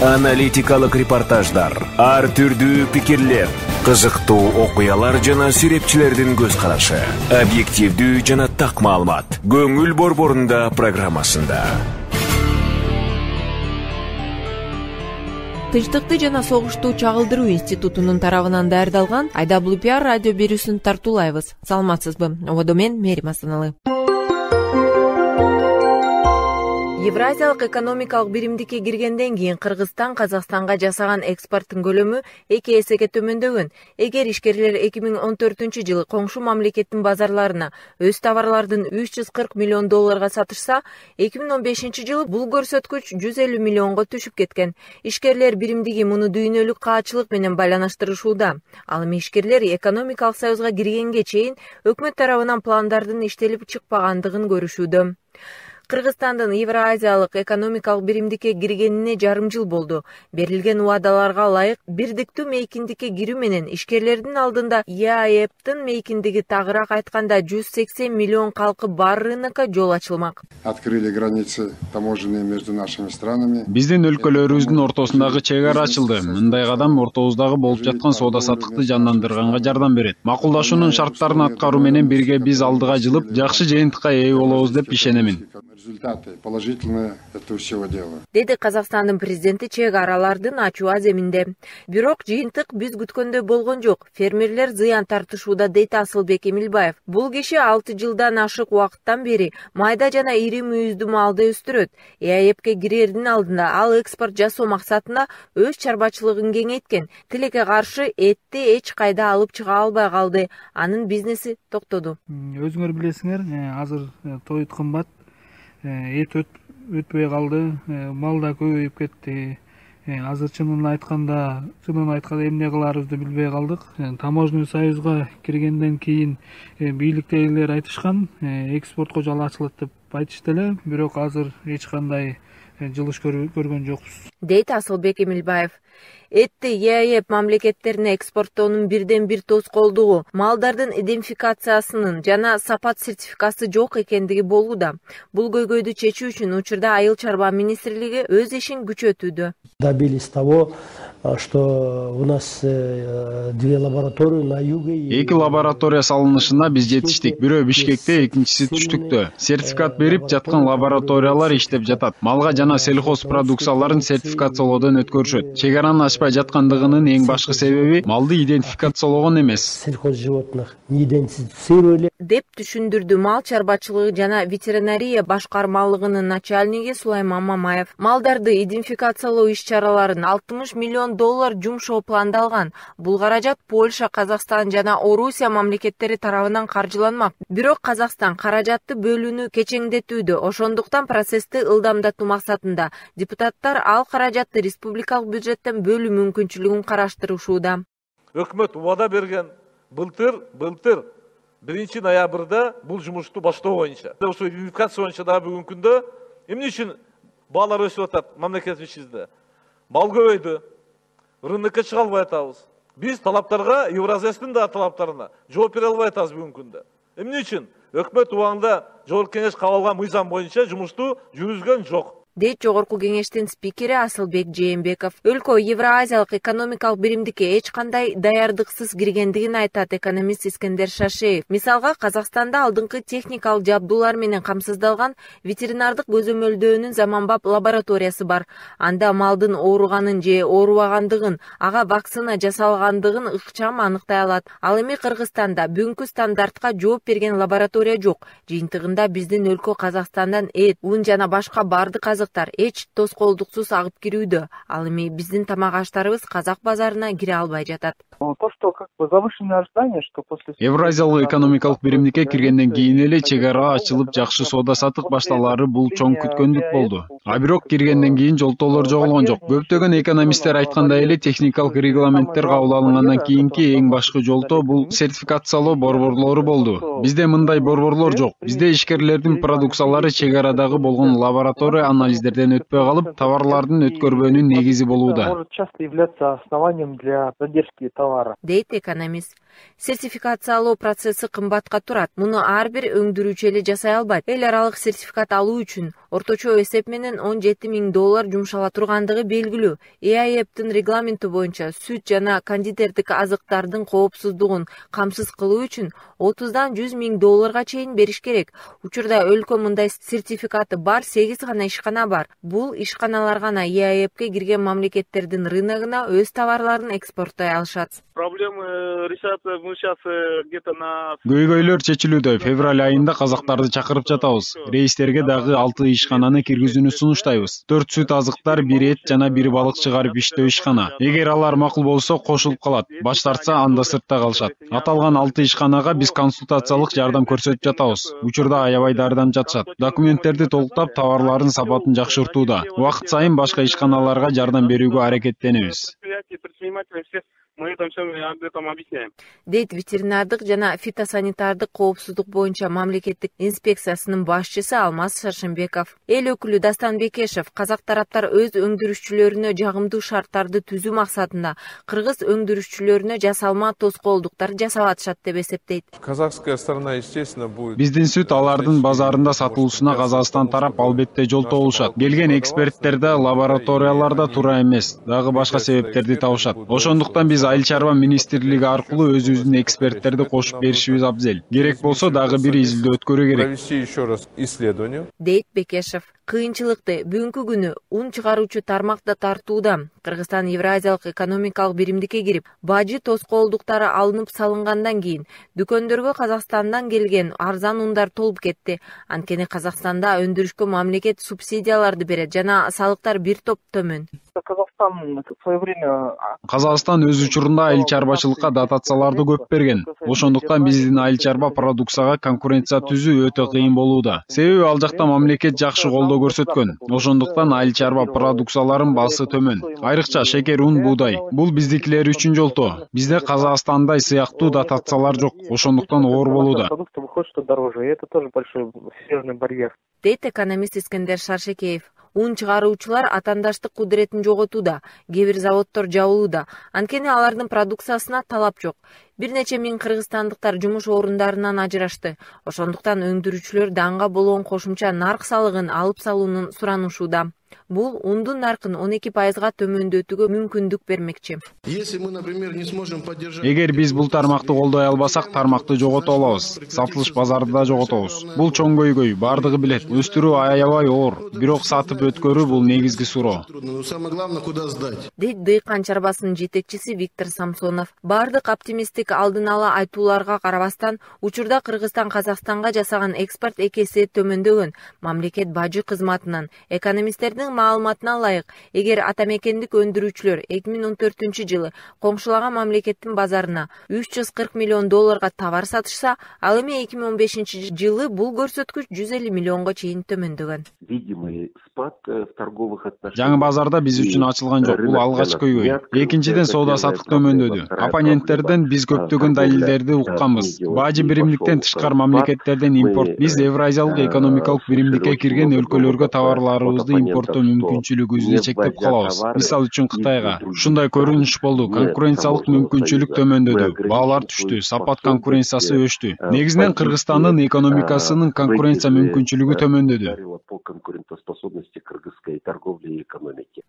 Аналитикалык репортаждар, ар түрдүү пикирлер, кызыктуу окуялар жана серепчилердин көз карашы, объективдүү жана так маалымат. Көңүл борборунда программасында. Тынчтыкты жана согушту чагылдыруу институтунун тарабынан даярдалган IWPR радио берүүсүн тартуулайбыз. Саламатсызбы? Ободо мен Мерим Асаналы. Евразиялык экономикалык биримдикке киргенден кийин Кыргызстан Казакстанга жасаган экспорттун көлөмү 2 эсеге төмөндөгөн. Эгер ишкерлер 2014-жылы коңшу мамлекеттин базарларына өз товарлардын $340 миллион сатышса, 2015-жылы бул көрсөткүч 150 миллионго түшүп кеткен. Ишкерлер биримдиги муну дүйнөлүк каачылык менен байланыштырышууда. Ал эми ишкерлер экономикалык союзга киргенге чейин өкмөт тарабынан пландардын иштелип чыкпагандыгын көрүшүүдө. Кыргызстандын Евразиялык экономикалык биримдикке киргенине жарым жыл болду. Берилген убадаларга ылайык бирдиктүү мейкиндикке кирүү менен ишкерлердин алдында ЕАЭПтин мейкиндиги тагыраак айтканда 180 миллион калкы бар рынокко жол ачылмак. Открыли границы таможенные между нашими странами. Биздин өлкөлөрүбүздүн ортосундагы чек ара ачылды. Мындай кадам ортобуздагы болуп жаткан соода саттыкты жандандырганга жардам берет. Макулдашуунун шарттарын аткаруу менен бирге биз алдыга жылып, жакшы жыйынтыкка ээ болобуз деп ишенемин. Результаты положительные этого всего дела. Деди Казакстандын президенти чек аралардын ачуу аземинде. Бирок жыйынтык биз күткөндөй болгон жок. Фермерлер зыян тартышууда, дейт Асылбек Эмилбаев. Бул киши 6 жылдан ашык убакыттан бери майда жана ири мүйүздүү малды өстүрөт. ЕАЭПке кирердин алдында ал экспорт жасоо максатында өз чарбачылыгын кеңейткен. Тилекке каршы этти эч кайда алып чыга албай калды. Анын бизнеси токтоду. Өзүңөр билесиңер, азыр тоют кымбат. Эт өтпөй калды, мал да көбөйүп кетти. Азыр чынын айтканда эмне кыларыбызды билбей калдык. Таможенный союзга киргенден кийин бийликтегилер айтышкан, экспортко жол ачылат деп айтышты эле, бирок азыр эч кандай жылыш көргөн жокпуз. Дейт Асылбек Эмилбаев. Этти ЕАЭП мамлекеттерине экспорттоонун бирден бир тоскоолдугу малдардын идентификациясынын жана сапат сертификаты жок экендиги болууда. Бул көйгөйдү чечүү үчүн учурда Айыл чарба министрлиги өз ишин күчөтүүдө. Добились того, что у нас 2 лаборатории на юге. 2 лаборатория салынышына биз жетиштик. Бирөө Бишкекте, экинчиси Түштүктө. Сертификат берип жаткан лабораториялар иштеп жатат. Малга жана сельхоз продукцияларын сертификациялоодон өткөрүшөт. Чек аранын ачпай жаткандыгынын эң башкы себеби малды идентификациялогон эмес. Сельхоз животных не идентифицировали. Деп түшүндүрдү мал чарбачылыгы жана ветеринария башкармалыгынын начальниги Сулайман Мамаев. Малдарды идентификациялоо иш-чараларын $60 миллион жумшоо пландалган. Бул каражат Польша, Казакстан жана Орусия мамлекеттери тарабынан каржыланмак. Бирок Казакстан каражатты бөлүүнү кечеңдетүүдө. Ошондуктан процессти ылдамдатуу максатында депутаттар ал каражатты республикалык бюджеттен бөлүү мүмкүнчүлүгүн караштырышууда. Өкмөт убада берген былтыр 1 ноябрда бул жумушту баштоо боюнча. Ошо идентификация боюнча дагы бүгүнкү күндө эмне үчүн баалар өсүп атат мамлекетибизде? Мал көбөйдү. Рынокко чыга албай атабыз. Биз талаптарга, Евразиястын да талаптарына жооп бере албай атабыз бүгүнкү күндө. Эмне үчүн? Өкмөт убагында жогорку кеңеш кабыл алган мыйзам боюнча жумушту жүргүзгөн жок. Дейт жогорку кеңештин спикери Асылбек Жээнбеков. Өлкө Евразиялык экономикалык биримдикке эч кандай даярдыксыз киргендигин айтат экономист Искендер Шашеев. Мисалга, Казакстанда алдыңкы техникалык жабдуулар менен камсыздалган ветеринардык көзөмөлдөөнүн заманбап лабораториясы бар. Анда малдын ооруганын же оорубагандыгын, ага вакцина жасалгандыгын ыкчам аныктай алат. Ал эми Кыргызстанда бүгүнкү стандартка жооп берген лаборатория жок. Жыйынтыгында биздин өлкө Казакстандан эт, ун жана башка бардык эч тоскоолдуксуз агып кирүүдө. Ал эми биздин тамак аштарыбыз казак базарына кире албай жатат. То, что как бы завышенное ожидание, что после Евразиялык экономикалык биримдикке киргенден кийин эле чек ара ачылып жакшы соода саттык башталары бул чоң күткөндүк болду. А бирок киргенден кийин жолтоолор жоголгон жок. Көптөгөн экономисттер айткандай эле техникалык регламенттер кабыл алынгандан кийинки эң башкы жолтоо бул сертификациялоо борборлору болду. Бизде мындай борборлор жок. Бизде ишкерлердин продукциялары чек арадагы болгон лаборатория анализдерден өтпөй калып, товарлардын өткөрбөөнүн негизи болууда. Может часто являться основанием для задержки товара. Дейт экономист. Сертификациялоо процесси кымбатка турат. Муну ар бир өндүрүүчү эле жасай албайт. Эл аралык сертификат алуу үчүн орточо эсеп менен $17 000 жумшала тургандыгы белгилүү. ЭАЭПтин регламенти боюнча сүт жана кондитердик азыктардын коопсуздугун камсыз кылуу үчүн $30 100 000 чейин бериш керек. Учурда өлкө мындай сертификаты бар 8 гана ишкана бар. Бул ишканалар гана ЕАЭПке кирген мамлекеттердин рыногуна өз товарларын экспорттой алышат. Проблемы решаться мы сейчас где-то на... Көйгөйлөр чечилүүдө. Февраль айында казактарды чакырып жатабыз. Рейстерге дагы 6 ишкананы киргизүүнү сунуштайбыз. 4 сүт азыктар, 1 эт жана 1 балык чыгарып иштөө ишкана. Эгер алар макул болсо кошулуп калат. Баш тартса анда сыртта калышат. Аталган 6 ишканага биз консультациялык жардам көрсөтүп жатабыз. Учурда аябай дарыдан жатышат. Документтерди толуктап, товарлардын сапатын жакшыртууда. Убакыт сайын башка ишканаларга жардам берүүгө аракеттенебиз. Мы это все об этом объясняем. Дейт ветеринардык жана фитосанитардык коопсуздук боюнча мамлекеттик инспекциясынын башчысы Алмаз Шаршембеков. Эл өкүлү Дастан Бекешев казак тараптар өз өндүрүшчүлөрүнө жагымдуу шарттарды түзүү максатында кыргыз өндүрүшчүлөрүнө жасалма тоскоолдуктар жасап атышат деп эсептейт. Казахская сторона, естественно, будет... Биздин сүт алардын базарында сатылуусуна Казакстан тарап албетте жолтоо болушат. Келген эксперттерде лабораторияларда туура эмес, дагы башка себептерди табышат. Ошондуктан биз Айыл чарба министрлиги аркылуу өзүбүздүн эксперттерди кошуп беришибиз абзел. Керек болсо дагы бир изилдөө өткөрүү керек. Провести еще раз исследование. Дейт Бекешев. Кыйынчылыкты бүгүнкү күнү ун чыгаруучу тармакта тартууда. Кыргызстан Евразиялык экономикалык биримдикке кирип, бажы тоскоолдуктары алынып салынгандан кийин дүкөндөргө Казакстандан келген арзан ундар толуп кетти. Анткени Казакстанда өндүрүшкө мамлекет субсидияларды берет жана салыктар бир топ төмөн. Казакстан өз учурунда айыл чарбачылыкка дотацияларды көп берген. Ошондуктан биздин айыл чарба продукцияга конкуренция түзүү өтө кыйын болууда. Себеби ал жакта мамлекет жакшы колдоо көрсөткөн. Ошондуктан айыл чарба продукцияларынын баасы төмөн. Айрыкча шекер, un, буудай. Бул биздикилер үчүн жолтоо. Бизде Казакстандай сыяктуу дотациялар жок. Ошондуктан оор болууда. Дейт экономист Искендер Шаршекеев. Un чыгаруучулар атандаштык кудуретин жоготууда, кээ бир заводдор жабылууда. Анткени алардын продукциясына талап жок. Бир нече миң кыргызстандыктар жумуш орундарынан ажырашты. Ошондуктан өндүрүүчүлөр данга болгон кошумча нарк салыгын алып салуунун суранышууда. Бул ундун наркын 12%га төмөндөтүүгө мүмкүндүк бермекчи. Эгер биз бул тармакты колдой албасак, тармакты жогото алабыз. Сатылыш базарды да жоготобуз. Бул чоң көйгөй, бардыгы билет. Өстүрүү аябай оор, бирок сатып өткөрүү бул негизги суроо. Дейт дыйкан чарбасынын жетекчиси Виктор Самсонов. Бардык оптимисттик алдын ала айтууларга карабастан, учурда Кыргызстан Казакстанга жасаган экспорт экеси төмөндөгөн. Мамлекет бажы кызматынан экономисттердин маалыматына ылайык, эгер атамекендик өндүрүүчүлөр 2014-жылы коңшулаган мамлекеттин базарына $340 миллион товар сатышса, ал эми 2015-жылы бул көрсөткүч $150 миллионго чейин төмөндөгөн. Жаңы базарда биз үчүн ачылган жок. Бул алгач көйгөй. Экинчиден соода саттык төмөндөдү. Оппоненттерден биз көптөгөн далилдерди укканбыз. Бажы биримдиктен тышкары мамлекеттерден импорт. Биз Евразиялык экономикалык биримдикке кирген өлкөлөргө товарларыбызды импорттоо мүмкүнчүлүгүбүздү чектеп калабыз. Мисалы үчүн Кытайга. Ушундай көрүнүш болду. Конкуренциялык мүмкүнчүлүк төмөндөдү. Баалар түштү, сапат конкуренциясы өчтү. Негизинен Кыргызстандын экономикасынын конкуренция мүмкүнчүлүгү төмөндөдү.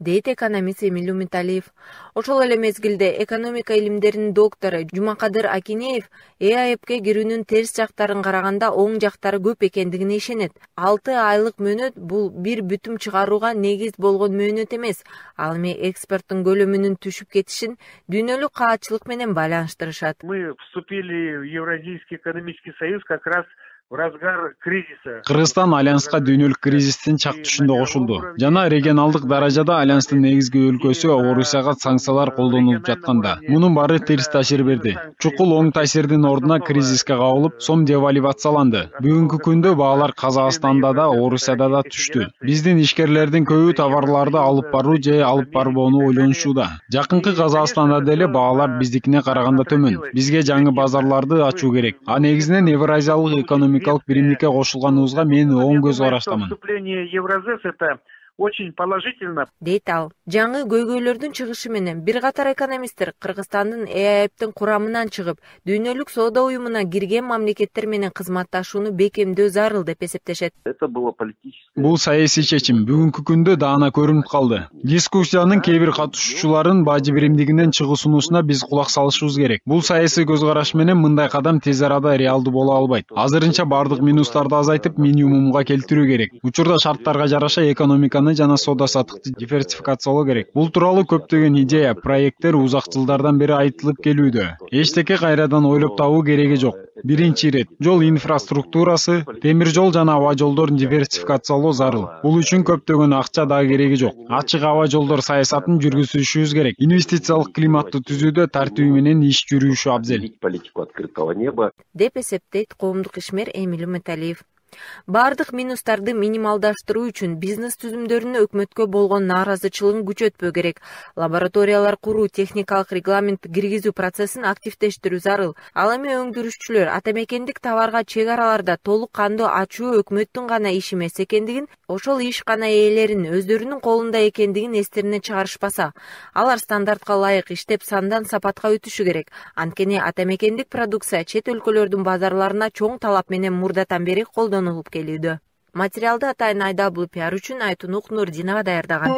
Дейт экономист Эмил Умиталиев. Ошол эле мезгилде экономика илимдеринин доктору Жумакадыр Акинеев ЭАЭПке кирүүнүн терс жактарын караганда оң жактары көп экендигине ишенет. 6 айлык мөөнөт бул бир бүтүм чыгарууга негиз болгон мөөнөт эмес. Ал эми экспорттун көлөмүнүн түшүп кетишин дүйнөлүк каатчылык менен байланыштырышат. Мы вступили в Евразийский экономический союз как раз в разгар кризиса. Кыргызстан альянска дүйнөлүк кризистин чак түшүндө кошулду. Жана регионалдык даражада альянстын негизги өлкөсү Орусияга санкциялар колдонулуп жатканда, мунун баары терс таасир берди. Чукул оң таасирдин ордуна кризиске кабылып, сом девальвацияланды. Бүгүнкү күндө баалар Казакстанда да, Орусияда да түштү. Биздин ишкерлердин көбү товарларды алып баруу же алып барбоону ойлонушууда. Жакынкы Казакстанда деле баалар биздикине караганда төмөн. Бизге жаңы базарларды ачуу керек. А негизинен Евразиялык экономикалык биримдикке кошулганыбызга мен оң көз караштамын. Вступление Евразес — это очень положительно, дейт ал. Жаңы көйгөйлөрдүн чыгышы менен бир катар экономисттер Кыргызстандын ЭАЭБтин курамынан чыгып, дүйнөлүк соода уюмуна кирген мамлекеттер менен кызматташууну бекемдөө зарыл деп эсептешет. Бул саясий чечим бүгүнкү күндө даана көрүнүп калды. Дискуссиянын кээ бир катышуучуларын бажы биримдигинен чыгуу сунуусуна биз кулак салышыбыз керек. Бул саясий көз караш менен мындай кадам тез арада реалдуу боло албайт. Азырынча бардык минустарды азайтып, минимумга келтирүү керек. Учурда шарттарга жараша экономиканы жана соода саттыкты диверсификациялоо керек. Бул тууралуу көптөгөн идея, проекттер узак жылдардан бери айтылып келүүдө. Эчтеке кайрадан ойлоп табуу кереги жок. Биринчи ирет жол инфраструктурасы, темир жол жана аба жолдорун диверсификациялоо зарыл. Бул үчүн көптөгөн акча да кереги жок. Ачык аба жолдор саясатын жүргүзүшүбүз керек. Инвестициялык климатты түзүүдө тартуу менен иш жүрүүшү абзел, деп эсептейт коомдук ишмер Эмиль Металиев. Бардык минустарды минималдаштыруу үчүн бизнес түзүмдөрүнө өкмөткө болгон нааразычылыгын күчөтпөө керек. Лабораториялар куруу, техникалык регламент киргизүү процессин активдештирүү зарыл. Ал эми өндүрүшчүлөр атамекендик товарга чек араларда толук кандуу ачуу өкмөттүн гана иши эмес экендигин, ошол ишкана ээлеринин өздөрүнүн колунда экендигин эстеринен чыгарышпаса, алар стандартка ылайык иштеп сандан сапатка өтүшү керек. Анткени атамекендик продукция чет өлкөлөрдүн базарларына чоң талап менен мурдатан бери колдонулуп келүүдө. Материалды атайын IWPR үчүн Айтунук Нурдинова даярдаган.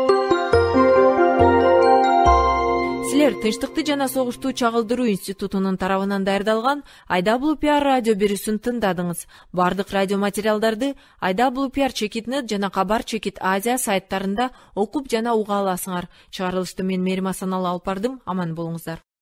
Силер Тынчтыкты жана согушту чагылдыруу институтунун тарабынан даярдалган IWPR радио берүүсүн тыңдадыңыз. Бардык радио материалдарды IWPR.net жана Кабар Чекит Азия сайттарында окуп жана уга аласыңар. Чыгарылышты мен Мерим Асаналы алып бардым. Аман болуңуздар.